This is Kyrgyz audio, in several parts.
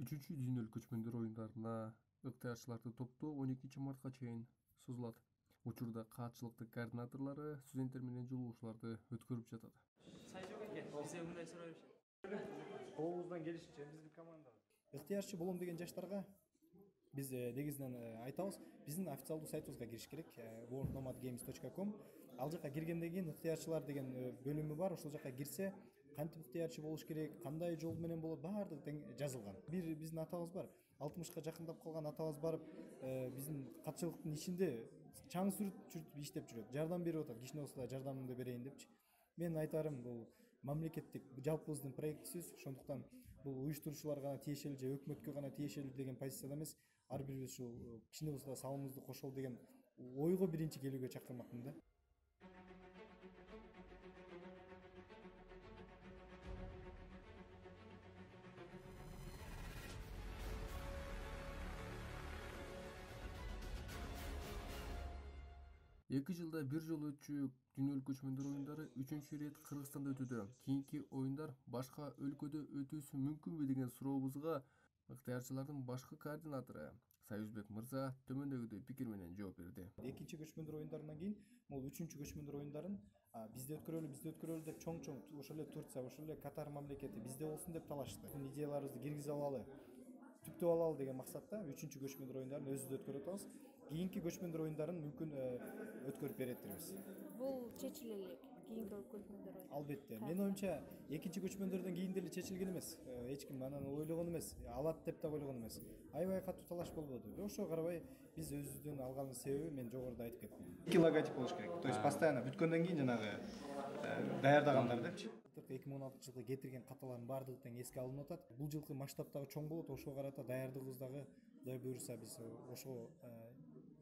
3 дүйнөлүк көчмөндөр оюндарына ыктыярчыларды топтоо 12 мартка чейин созулат. Учурда каатчылыктын координаторлору студенттер менен жолугушууларды өткөрүп жатат. Бизге мындай суроо беришет. Колубуздан келишинче биздин команда ыктыярчы болом деген жаштарга биз негизинен айтабыз, биздин официалдуу сайтыбызга кириш керек, worldnomadgames.com. Ал жака киргенден кийин ыктыярчылар деген бөлүмү бар. Ошол жака кирсе, кантип ыктыярчы болуш керек, кандай жол менен болот, баардыгы тең жазылган. Бир биздин атабыз бар. 60ка жакындап калган атабыз барып, биздин катчылыктын ичинде чаң сүрүтүп иштеп жүрөт. Жардам берип атат. Кичине болсо да жардамымды берейин депчи. Мен айтарым, бул мамлекеттик жалпыбыздын проектибиз, ошондуктан бул уюштуруучуларга гана тиешелүү же өкмөткө гана тиешелүү деген позицияда эмес, ар бирибиз ушул кичине болсо да салымыбызды кошолу деген ойго биринчи келүүгө чакырмакмын да. Эки жылда бир жолу өтчү дүйнөлүк көчмөндөр оюндары 3-чү ирет Кыргызстанда өтүүдө. Кийинки оюндар башка өлкөдө өтүүсү мүмкүнбү деген сурообузга ыктыярчылардын башкы координатору Союзбек мырза төмөндөгүдөй пикир менен жооп берди. Экинчи көчмөндөр оюндарынан кийин могул 3-чү көчмөндөр оюндарын бизде өткөрөлү деп чоң ошол эле Турция, ошол эле Катар мамлекети бизде болсун деп талашты. Идеяларыбызды киргизе алалы, түптөп алалы деген максатта 3-чү көчмөндөр оюндарын өзүбүз өткөрүп атабыз. Кийинки көчмөндөр оюндарын мүмкүн өткөрүп беретирбиз. Бул чечиле элек кийинки көчмөндөр оюндар. Албетте. Менин оюмча, экинчи көчмөндөрдөн кийин деле чечилген эмес. Эч ким анан ойлогон эмес, алат деп да ойлогон эмес. Аябай катуу талаш болбоду. Ошого карабай биз өзүбүздүн алганыбыз себеби мен жогоруда айтып кеттим. 2 логотип болуш керек. То есть постоянно бүткөндөн кийин жанагы даярдагандар депчи. 2016-жылы кетирген каталардын баардыгы тең эске алынып атат. Бул жылкы масштабтагы чоң болот, ошого карата даярдыгыбыз дагы Кудай буюрса биз ошого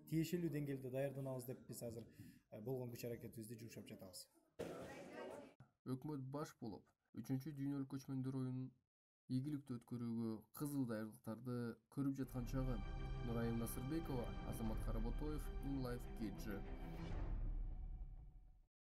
тиешелүү деңгээлде даярданабыз деп биз азыр болгон күч аракетибизди жумшап жатабыз. Өкмөт баш болуп, 3-чү дүйнөлүк көчмөндөр оюнун ийгиликтүү өткөрүүгө кызуу даярдыктарды көрүп жаткан чагы. Нурайым Насырбекова, Азамат Каработоев, InLife KG.